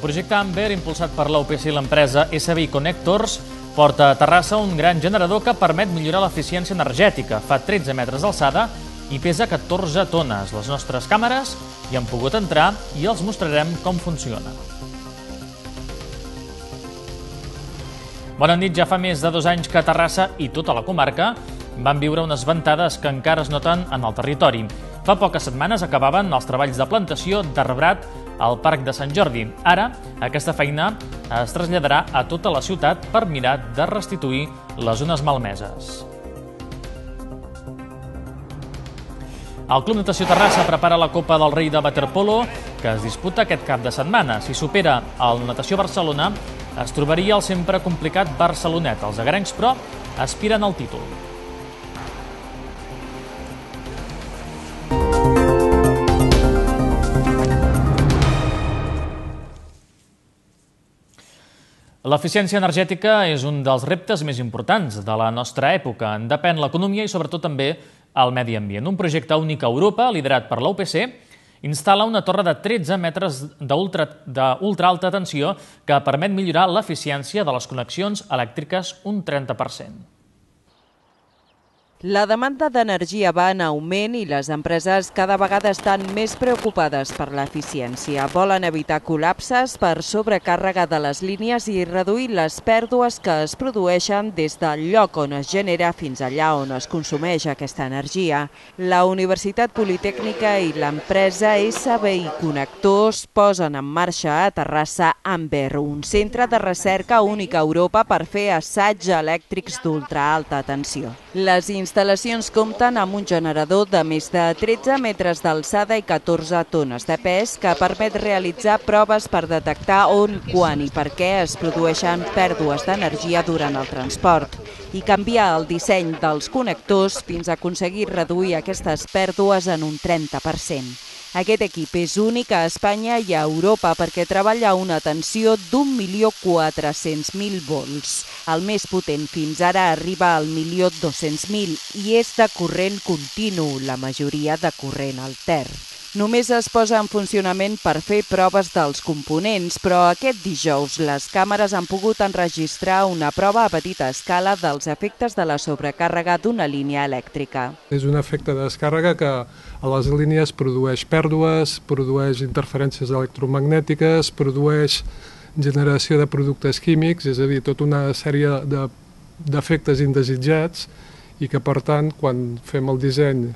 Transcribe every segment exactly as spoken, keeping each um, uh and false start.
projecte Amber, impulsat per l'U P C i l'empresa S B I Connectors, porta a Terrassa un gran generador que permet millorar l'eficiència energètica. Fa tretze metres d'alçada i pesa catorze tones. Les nostres càmeres hi han pogut entrar i els mostrarem com funciona. Bona nit. Ja fa més de dos anys que Terrassa i tota la comarca van viure unes ventades que encara es noten en el territori. Fa poques setmanes acabaven els treballs de plantació d'arbrat al Parc de Sant Jordi. Ara, aquesta feina es traslladarà a tota la ciutat per mirar de restituir les zones malmeses. El Club Natació Terrassa prepara la Copa del Rei de Waterpolo, que es disputa aquest cap de setmana. Si supera el Natació Barcelona, es trobaria el sempre complicat Barcelonet. Els agrencs, però, aspiren al títol. L'eficiència energètica és un dels reptes més importants de la nostra època. En depèn l'economia i sobretot també el medi ambient. Un projecte únic a Europa, liderat per l'U P C, instal·la una torre de tretze metres d'ultra alta tensió que permet millorar l'eficiència de les connexions elèctriques un trenta per cent. La demanda d'energia va en augment i les empreses cada vegada estan més preocupades per l'eficiència. Volen evitar col·lapses per sobrecàrrega de les línies i reduir les pèrdues que es produeixen des del lloc on es genera fins allà on es consumeix aquesta energia. La Universitat Politècnica i l'empresa S B I Connectors posen en marxa a Terrassa Amber, un centre de recerca únic a Europa per fer assaigs elèctrics d'ultraalta tensió. Les instal·lacions compten amb un generador de més de tretze metres d'alçada i catorze tones de pes que permet realitzar proves per detectar on, quan i per què es produeixen pèrdues d'energia durant el transport i canviar el disseny dels connectors fins a aconseguir reduir aquestes pèrdues en un trenta per cent. Aquest equip és únic a Espanya i a Europa perquè treballa a una tensió d'un milió quatre-cents mil volts. El més potent fins ara arriba al milió dos-cents mil i és de corrent continu, la majoria de corrent altern. Només es posa en funcionament per fer proves dels components, però aquest dijous les càmeres han pogut enregistrar una prova a petita escala dels efectes de la sobrecàrrega d'una línia elèctrica. És un efecte de descàrrega que a les línies produeix pèrdues, produeix interferències electromagnètiques, produeix generació de productes químics, és a dir, tota una sèrie d'efectes indesitjats i que, per tant, quan fem el disseny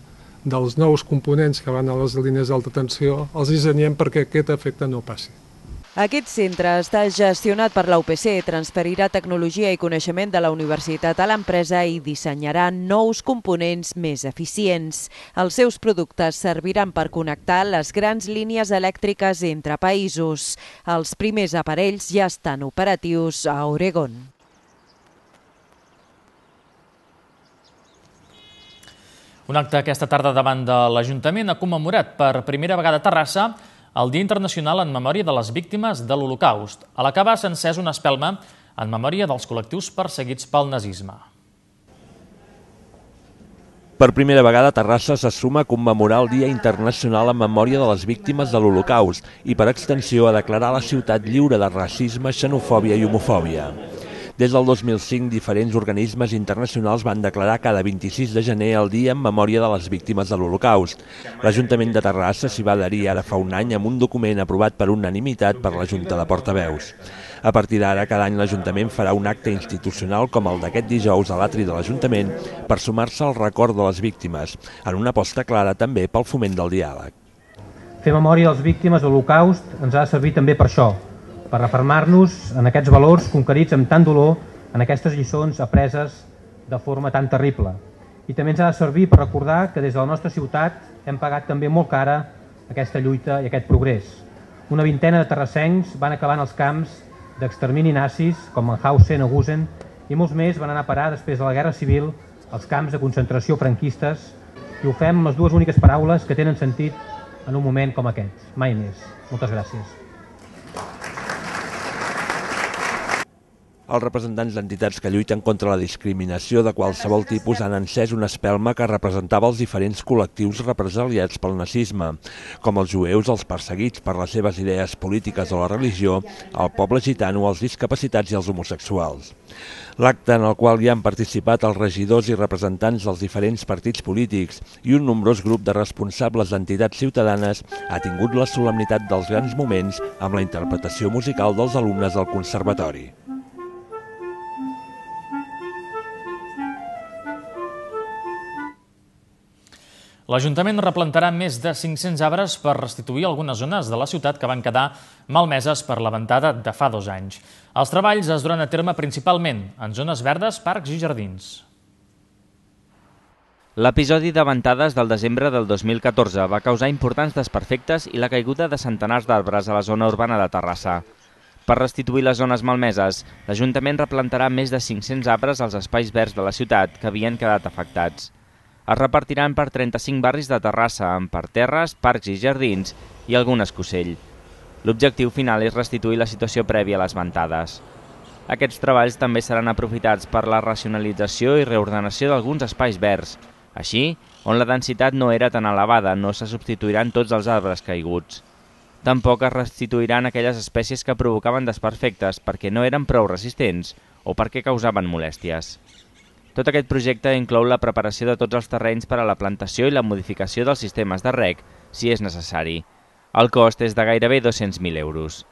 dels nous components que van a les línies d'alta tensió, els dissenyem perquè aquest efecte no passi. Aquest centre està gestionat per l'U P C, transferirà tecnologia i coneixement de la universitat a l'empresa i dissenyarà nous components més eficients. Els seus productes serviran per connectar les grans línies elèctriques entre països. Els primers aparells ja estan operatius a Oregon. Un acte aquesta tarda davant de l'Ajuntament ha commemorat per primera vegada a Terrassa el Dia Internacional en memòria de les víctimes de l'Holocaust. A l'acabar s'ha encès una espelma en memòria dels col·lectius perseguits pel nazisme. Per primera vegada Terrassa se suma a commemorar el Dia Internacional en memòria de les víctimes de l'Holocaust i, per extensió, a declarar la ciutat lliure de racisme, xenofòbia i homofòbia. Des del dos mil cinc, diferents organismes internacionals van declarar cada vint-i-sis de gener el dia en memòria de les víctimes de l'Holocaust. L'Ajuntament de Terrassa s'hi va adherir ara fa un any amb un document aprovat per unanimitat per la Junta de Portaveus. A partir d'ara, cada any l'Ajuntament farà un acte institucional com el d'aquest dijous a l'atri de l'Ajuntament per sumar-se al record de les víctimes, en una aposta clara també pel foment del diàleg. Fer memòria de les víctimes de l'Holocaust ens ha de servir també per això, per refermar-nos en aquests valors conquerits amb tant dolor en aquestes lliçons apreses de forma tan terrible. I també ens ha de servir per recordar que des de la nostra ciutat hem pagat també molt cara aquesta lluita i aquest progrés. Una vintena de terrassencs van acabar en els camps d'extermini nazis, com Mauthausen o Gusen, i molts més van anar a parar després de la Guerra Civil als camps de concentració franquistes, i ho fem amb les dues úniques paraules que tenen sentit en un moment com aquest. Mai més. Moltes gràcies. Els representants d'entitats que lluiten contra la discriminació de qualsevol tipus han encès una espelma que representava els diferents col·lectius represaliats pel nazisme, com els jueus, els perseguits per les seves idees polítiques o la religió, el poble gitano, els discapacitats i els homosexuals. L'acte en el qual hi han participat els regidors i representants dels diferents partits polítics i un nombrós grup de responsables d'entitats ciutadanes ha tingut la solemnitat dels grans moments amb la interpretació musical dels alumnes del conservatori. L'Ajuntament replantarà més de cinc-cents arbres per restituir algunes zones de la ciutat que van quedar malmeses per la ventada de fa dos anys. Els treballs es duran a terme principalment en zones verdes, parcs i jardins. L'episodi de ventades del desembre del dos mil catorze va causar importants desperfectes i la caiguda de centenars d'arbres a la zona urbana de Terrassa. Per restituir les zones malmeses, l'Ajuntament replantarà més de cinc-cents arbres als espais verds de la ciutat que havien quedat afectats. Es repartiran per trenta-cinc barris de Terrassa, amb parterres, parcs i jardins i algun escocell. L'objectiu final és restituir la situació prèvia a les ventades. Aquests treballs també seran aprofitats per la racionalització i reordenació d'alguns espais verds. Així, on la densitat no era tan elevada, no se substituiran tots els arbres caiguts. Tampoc es restituiran aquelles espècies que provocaven desperfectes perquè no eren prou resistents o perquè causaven molèsties. Tot aquest projecte inclou la preparació de tots els terrenys per a la plantació i la modificació dels sistemes de reg, si és necessari. El cost és de gairebé dos-cents mil euros.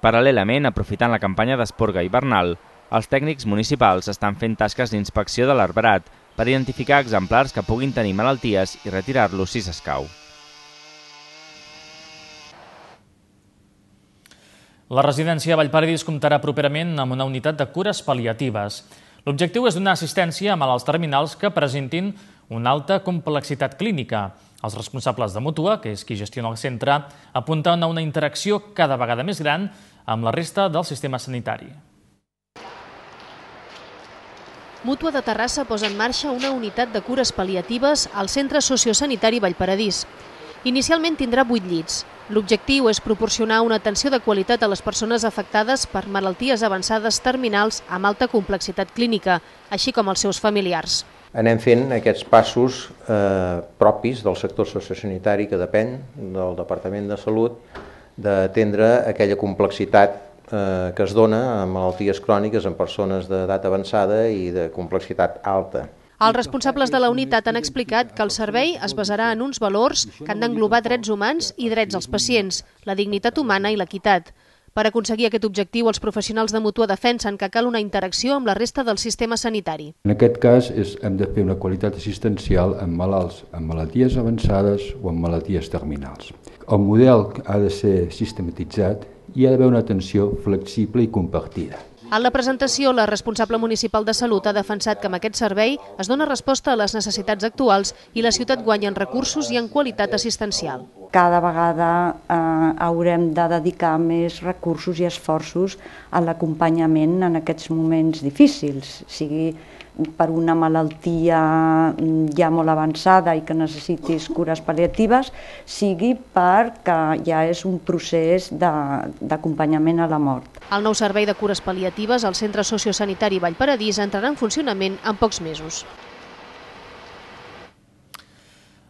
Paral·lelament, aprofitant la campanya d'esporga hivernal, els tècnics municipals estan fent tasques d'inspecció de l'arbrat per identificar exemplars que puguin tenir malalties i retirar-los si s'escau. La residència Vallparadís comptarà properament amb una unitat de cures pal·liatives. L'objectiu és donar assistència a malalts terminals que presentin una alta complexitat clínica. Els responsables de Mútua, que és qui gestiona el centre, apunten a una interacció cada vegada més gran amb la resta del sistema sanitari. Mútua de Terrassa posa en marxa una unitat de cures pal·liatives al Centre Sociosanitari Vallparadís. Inicialment tindrà vuit llits. L'objectiu és proporcionar una atenció de qualitat a les persones afectades per malalties avançades terminals amb alta complexitat clínica, així com als seus familiars. Anem fent aquests passos eh, propis del sector sociosanitari que depèn del Departament de Salut d'atendre aquella complexitat eh, que es dona en malalties cròniques en persones d'edat avançada i de complexitat alta. Els responsables de la unitat han explicat que el servei es basarà en uns valors que han d'englobar drets humans i drets als pacients, la dignitat humana i l'equitat. Per aconseguir aquest objectiu, els professionals de Mútua defensen que cal una interacció amb la resta del sistema sanitari. En aquest cas, és, hem de fer una qualitat assistencial en malalts amb malalties avançades o amb malalties terminals. El model ha de ser sistematitzat i hi ha d'haver una atenció flexible i compartida. En la presentació, la responsable municipal de Salut ha defensat que amb aquest servei es dona resposta a les necessitats actuals i la ciutat guanya en recursos i en qualitat assistencial. Cada vegada eh, haurem de dedicar més recursos i esforços a l'acompanyament en aquests moments difícils, sigui per una malaltia ja molt avançada i que necessitis cures pal·liatives, sigui perquè ja és un procés d'acompanyament a la mort. El nou servei de cures pal·liatives al Centre Sociosanitari Vallparadís entrarà en funcionament en pocs mesos.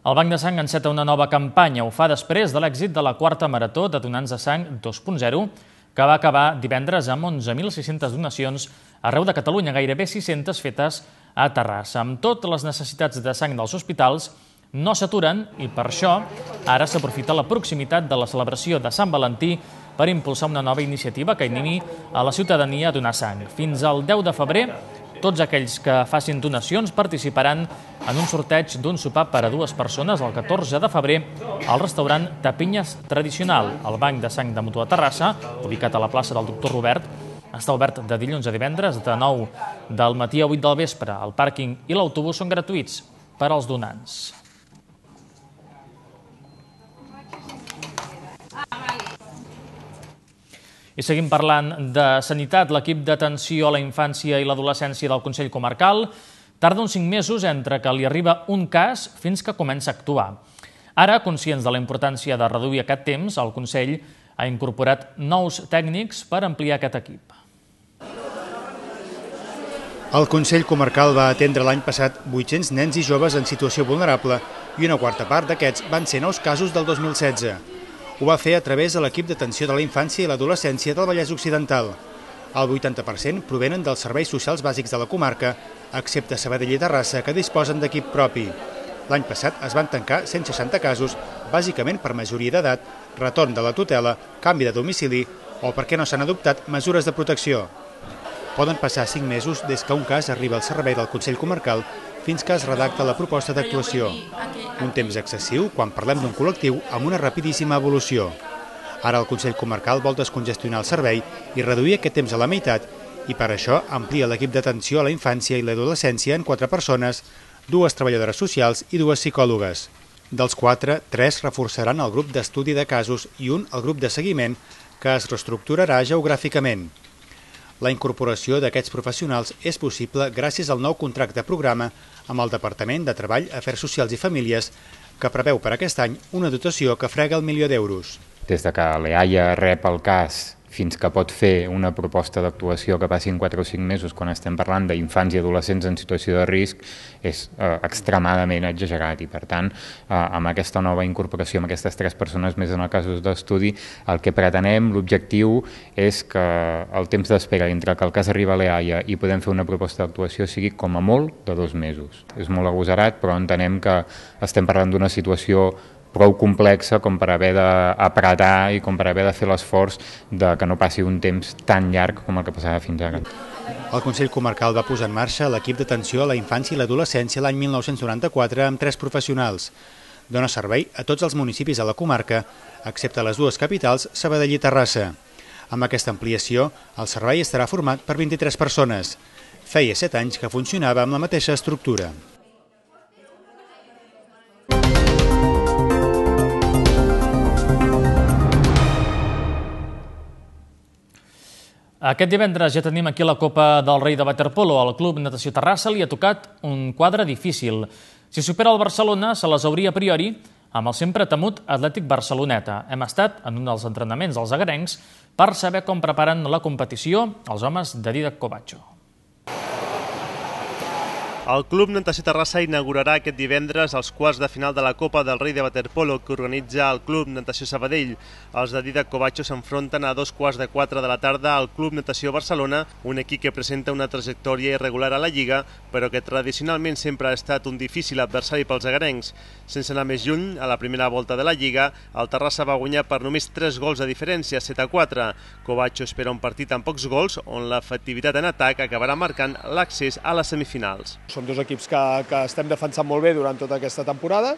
El Banc de Sang enceta una nova campanya. Ho fa després de l'èxit de la quarta marató de donants de sang dos punt zero, que va acabar divendres amb onze mil sis-centes donacions arreu de Catalunya, gairebé sis-centes fetes a Terrassa. Amb totes les necessitats de sang dels hospitals no s'aturen i per això ara s'aprofita la proximitat de la celebració de Sant Valentí per impulsar una nova iniciativa que animi a la ciutadania a donar sang. Fins al deu de febrer, tots aquells que facin donacions participaran en un sorteig d'un sopar per a dues persones el catorze de febrer al restaurant Tapinyes Tradicional. El Banc de Sang de Mútua Terrassa, ubicat a la plaça del Doctor Robert, està obert de dilluns a divendres de nou del matí a vuit del vespre. El pàrquing i l'autobús són gratuïts per als donants. I seguim parlant de sanitat. L'equip d'atenció a la infància i l'adolescència del Consell Comarcal tarda uns cinc mesos entre que li arriba un cas fins que comença a actuar. Ara, conscients de la importància de reduir aquest temps, el Consell ha incorporat nous tècnics per ampliar aquest equip. El Consell Comarcal va atendre l'any passat vuit-cents nens i joves en situació vulnerable i una quarta part d'aquests van ser nous casos del dos mil setze. Ho va fer a través de l'equip d'atenció de la infància i l'adolescència del Vallès Occidental. El vuitanta per cent provenen dels serveis socials bàsics de la comarca, excepte Sabadell i Terrassa, que disposen d'equip propi. L'any passat es van tancar cent seixanta casos, bàsicament per majoria d'edat, retorn de la tutela, canvi de domicili o perquè no s'han adoptat mesures de protecció. Poden passar cinc mesos des que un cas arriba al servei del Consell Comarcal fins que es redacta la proposta d'actuació. Un temps excessiu quan parlem d'un col·lectiu amb una rapidíssima evolució. Ara el Consell Comarcal vol descongestionar el servei i reduir aquest temps a la meitat i per això amplia l'equip d'atenció a la infància i l'adolescència en quatre persones, dues treballadores socials i dues psicòlogues. Dels quatre, tres reforçaran el grup d'estudi de casos i un el grup de seguiment que es reestructurarà geogràficament. La incorporació d'aquests professionals és possible gràcies al nou contracte programa amb el Departament de Treball, Afers Socials i Famílies, que preveu per aquest any una dotació que frega el milió d'euros. Des de que l'EAIA rep el cas fins que pot fer una proposta d'actuació que passin quatre o cinc mesos quan estem parlant d'infants i adolescents en situació de risc és eh, extremadament exagerat i per tant eh, amb aquesta nova incorporació, amb aquestes tres persones més en els casos d'estudi, el que pretenem, l'objectiu és que el temps d'espera entre que el cas arriba a l'EAIA i podem fer una proposta d'actuació sigui com a molt de dos mesos. És molt agosarat però entenem que estem parlant d'una situació prou complexa com per haver d'apretar i com per haver de fer l'esforç de que no passi un temps tan llarg com el que passava fins ara. El Consell Comarcal va posar en marxa l'equip d'atenció a la infància i l'adolescència l'any mil nou-cents noranta-quatre amb tres professionals. Dona servei a tots els municipis de la comarca, excepte les dues capitals, Sabadell i Terrassa. Amb aquesta ampliació, el servei estarà format per vint-i-tres persones. Feia set anys que funcionava amb la mateixa estructura. Aquest divendres ja tenim aquí la Copa del Rei de Waterpolo. Al Club Natació Terrassa li ha tocat un quadre difícil. Si supera el Barcelona, se les hauria a priori amb el sempre temut Atlètic Barceloneta. Hem estat en un dels entrenaments dels agarencs per saber com preparen la competició els homes de Dídac Covacho. El Club Natació Terrassa inaugurarà aquest divendres els quarts de final de la Copa del Rei de Waterpolo que organitza el Club Natació Sabadell. Els de Dídac Covacho s'enfronten a dos quarts de quatre de la tarda al Club Natació Barcelona, un equip que presenta una trajectòria irregular a la Lliga, però que tradicionalment sempre ha estat un difícil adversari pels agarencs. Sense anar més lluny, a la primera volta de la Lliga, el Terrassa va guanyar per només tres gols de diferència, set a quatre. Covacho espera un partit amb pocs gols, on l'efectivitat en atac acabarà marcant l'accés a les semifinals. Som dos equips que, que estem defensant molt bé durant tota aquesta temporada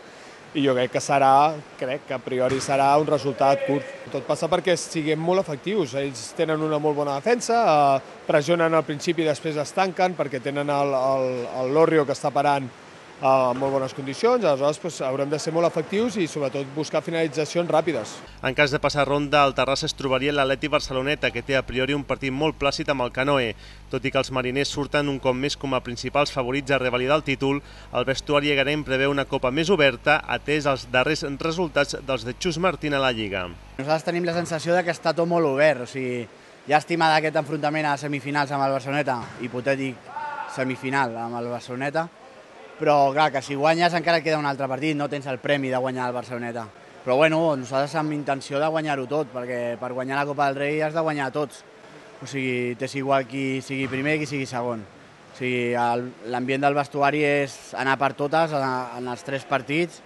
i jo crec que serà, crec que a priori serà un resultat curt. Tot passa perquè siguem molt efectius. Ells tenen una molt bona defensa, eh, pressionen al principi i després es tanquen perquè tenen el, el, el Lorrio que està parant eh, en molt bones condicions. Aleshores doncs, haurem de ser molt efectius i sobretot buscar finalitzacions ràpides. En cas de passar ronda, el Terrassa es trobaria l'Atleti Barceloneta, que té a priori un partit molt plàcid amb el Canoe. Tot i que els mariners surten un cop més com a principals favorits a revalidar el títol, el vestuari agarenc preveu una copa més oberta, atès els darrers resultats dels de Xus Martín a la Lliga. Nosaltres tenim la sensació de que està tot molt obert, o sigui, llàstima d'aquest enfrontament a semifinals amb el Barceloneta, hipotètic semifinal amb el Barceloneta, però clar, que si guanyes encara queda un altre partit, no tens el premi de guanyar el Barceloneta. Però bueno, nosaltres amb intenció de guanyar-ho tot, perquè per guanyar la Copa del Rei has de guanyar tots. O sigui, t'és igual qui sigui primer i qui sigui segon. O sigui, l'ambient del vestuari és anar per totes en els tres partits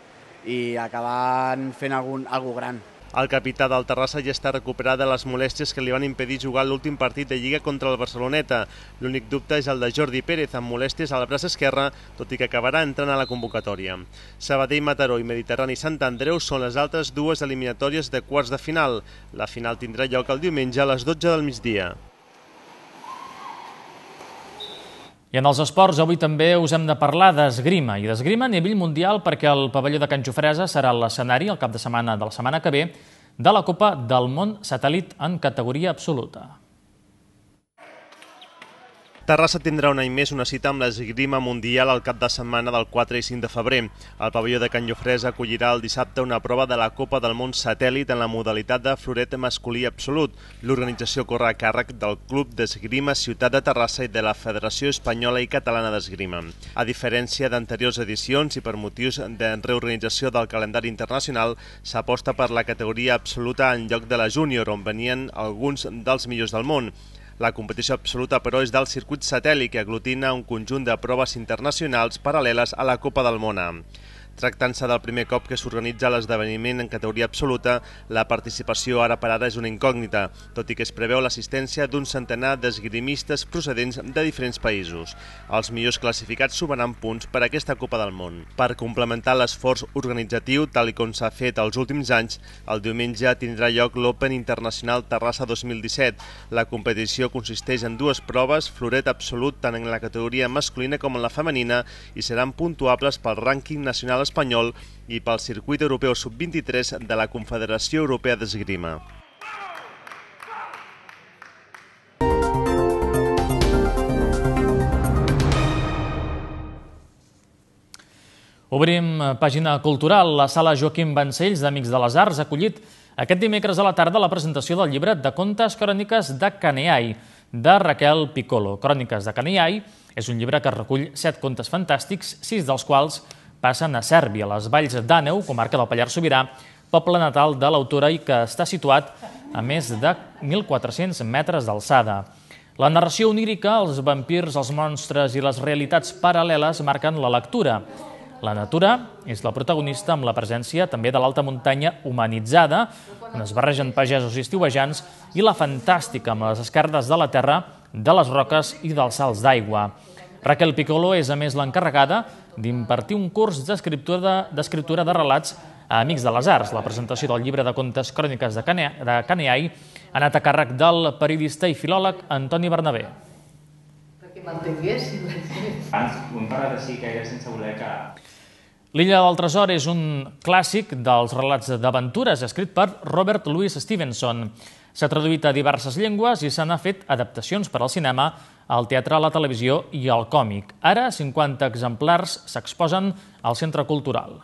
i acabar fent algun, algo gran. El capità del Terrassa ja està recuperat de les molèsties que li van impedir jugar l'últim partit de Lliga contra el Barceloneta. L'únic dubte és el de Jordi Pérez, amb molèsties al braç esquerre, tot i que acabarà entrant a la convocatòria. Sabadell, Mataró i Mediterrani Sant Andreu són les altres dues eliminatòries de quarts de final. La final tindrà lloc el diumenge a les dotze del migdia. I en els esports avui també us hem de parlar d'esgrima, i d'esgrima a nivell mundial perquè el pavelló de Can Jofresa serà l'escenari el cap de setmana de la setmana que ve de la Copa del Món Satèl·lit en categoria absoluta. Terrassa tindrà un any més una cita amb l'esgrima mundial al cap de setmana del quatre i cinc de febrer. El pavelló de Can Llofrès acollirà el dissabte una prova de la Copa del Món Satèl·lit en la modalitat de floret masculí absolut. L'organització corre a càrrec del Club d'Esgrima Ciutat de Terrassa i de la Federació Espanyola i Catalana d'Esgrima. A diferència d'anteriors edicions i per motius de reorganització del calendari internacional, s'aposta per la categoria absoluta en lloc de la júnior, on venien alguns dels millors del món. La competició absoluta, però, és del circuit satèl·lit, que aglutina un conjunt de proves internacionals paral·leles a la Copa del Món. Tractant-se del primer cop que s'organitza l'esdeveniment en categoria absoluta, la participació ara per ara és una incògnita, tot i que es preveu l'assistència d'un centenar d'esgrimistes procedents de diferents països. Els millors classificats sumaran punts per a aquesta Copa del Món. Per complementar l'esforç organitzatiu, tal com s'ha fet els últims anys, el diumenge tindrà lloc l'Open Internacional Terrassa dos mil disset. La competició consisteix en dues proves, floret absolut tant en la categoria masculina com en la femenina, i seran puntuables pel rànquing nacional espanyol i pel circuit europeu sub vint-i-tres de la Confederació Europea d'Esgrima. Obrim pàgina cultural. La sala Joaquim Vancells d'Amics de les Arts ha acollit aquest dimecres a la tarda la presentació del llibre de contes Cròniques de Caneai, de Raquel Piccolo. Cròniques de Caneai és un llibre que recull set contes fantàstics, sis dels quals passen a Sèrbia, a les Valls d'Àneu, comarca del Pallars Sobirà, poble natal de l'autora i que està situat a més de mil quatre-cents metres d'alçada. La narració onírica, els vampirs, els monstres i les realitats paral·leles marquen la lectura. La natura és la protagonista amb la presència també de l'alta muntanya humanitzada, on es barregen pagesos i estiuejants, i la fantàstica amb les esquerdes de la terra, de les roques i dels salts d'aigua. Raquel Piccolo és, a més, l'encarregada d'impartir un curs d'escriptura de relats a Amics de les Arts. La presentació del llibre de contes Cròniques de Caneai ha anat a càrrec del periodista i filòleg Antoni Bernabé. Perquè m'entenguessin. Abans ho hem parlat així que era sense voler que... L'Illa del Tresor és un clàssic dels relats d'aventures escrit per Robert Louis Stevenson. S'ha traduït a diverses llengües i se n'ha fet adaptacions per al cinema, al teatre, a la televisió i al còmic. Ara, cinquanta exemplars s'exposen al Centre Cultural.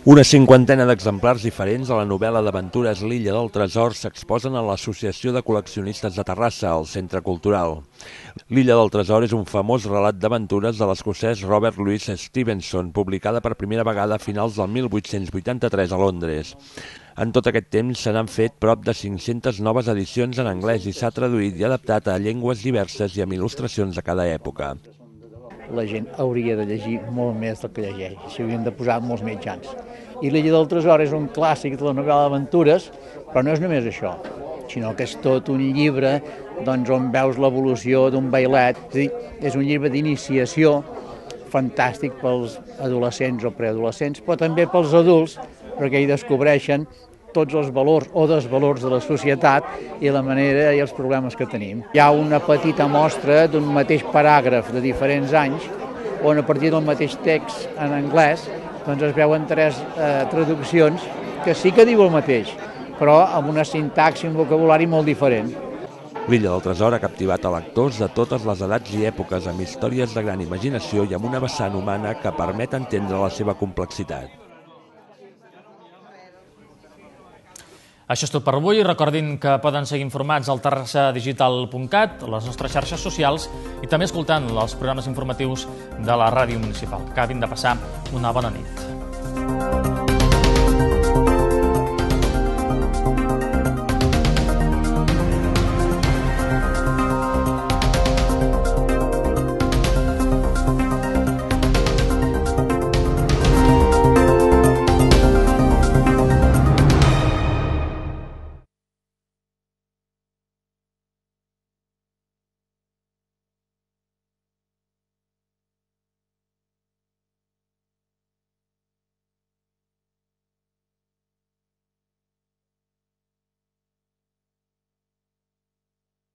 Una cinquantena d'exemplars diferents de la novel·la d'aventures L'Illa del Tresor s'exposen a l'Associació de Col·leccionistes de Terrassa, al Centre Cultural. L'Illa del Tresor és un famós relat d'aventures de l'escocès Robert Louis Stevenson, publicada per primera vegada a finals del mil vuit-cents vuitanta-tres a Londres. En tot aquest temps se n'han fet prop de cinc-centes noves edicions en anglès i s'ha traduït i adaptat a llengües diverses i amb il·lustracions de cada època. La gent hauria de llegir molt més del que llegeix, s'hi haurien de posar molts mitjans. I L'Illa del Tresor és un clàssic de la novel·la d'aventures, però no és només això, sinó que és tot un llibre doncs, on veus l'evolució d'un bailet. És un llibre d'iniciació fantàstic pels adolescents o preadolescents, però també pels adults, perquè hi descobreixen tots els valors o desvalors de la societat i la manera i els problemes que tenim. Hi ha una petita mostra d'un mateix paràgraf de diferents anys on a partir del mateix text en anglès doncs es veuen tres eh, traduccions que sí que diu el mateix, però amb una sintaxi i un vocabulari molt diferent. L'Illa del Tresor ha captivat a lectors de totes les edats i èpoques amb històries de gran imaginació i amb una vessant humana que permet entendre la seva complexitat. Això és tot per avui. Recordin que poden seguir informats al terrassa digital punt cat, a les nostres xarxes socials i també escoltant els programes informatius de la ràdio municipal. Acabin de passar una bona nit.